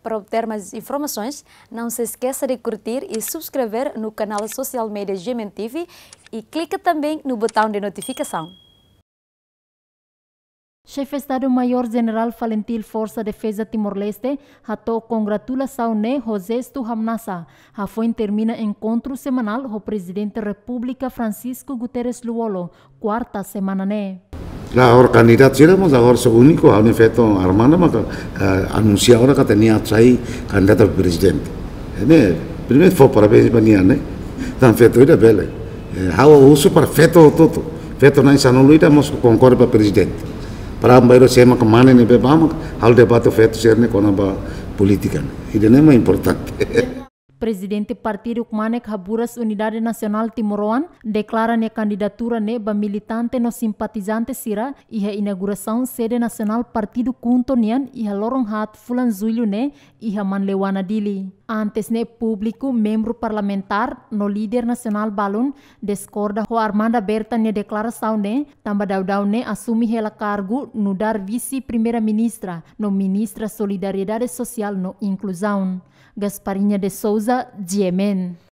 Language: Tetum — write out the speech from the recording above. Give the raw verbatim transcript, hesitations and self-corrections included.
Para obter mais informações, não se esqueça de curtir e subscrever no canal social media G M N T V e clica também no botão de notificação. Xefe Estadu Maiór Jenerál Falintil Forsa Defeza Timor-Leste hato'o kongratulasaun ne'e ho jestu hamnasa, hafoin termina enkontru semanál ho Prezidente Repúblika Francisco Guterres Lú-Olo, kuarta semana ne'e. Klaru, agora kandidatu sira mós agora só úniku, ha'u-nia feto Armanda maka, eh, anunsia agora katak nia atu sai kandidatu ba prezidente. Ne'e, primeiru fó parabéns ba nia, ne'e. Tan feto ida bele. Eh, ha'u husu para feto hotu-hotu. Feto na'in sanulu ida mós konkorre ba prezidente. Para bainhira sé mak mane ne'ebé bá mak halo debate feto sira-ne'e kona-ba polítika ne'e. Ida-ne'e mak importante. Prezidente Partidu Ukmanek Haburas Unidade Nasionál Timoroan deklara nia kandidatura ne'e ba militante no simpatizante sira iha inaugurasaun sede nasionál partidu KHUNTO nian iha loron haat fulan Jullu ne'e iha Manleuana, Dili. Antes ne'e públiku, membru parlamentár no líder nasionál balun diskorda ho Armanda Berta nia deklarasaun ne'e, tanba daudaun ne'e asume hela kargu nu'udar Vise-Primeira-Ministra no Ministra Solidariedade Sosiál no Inkluzaun. Gasparinha de Souza, G M N.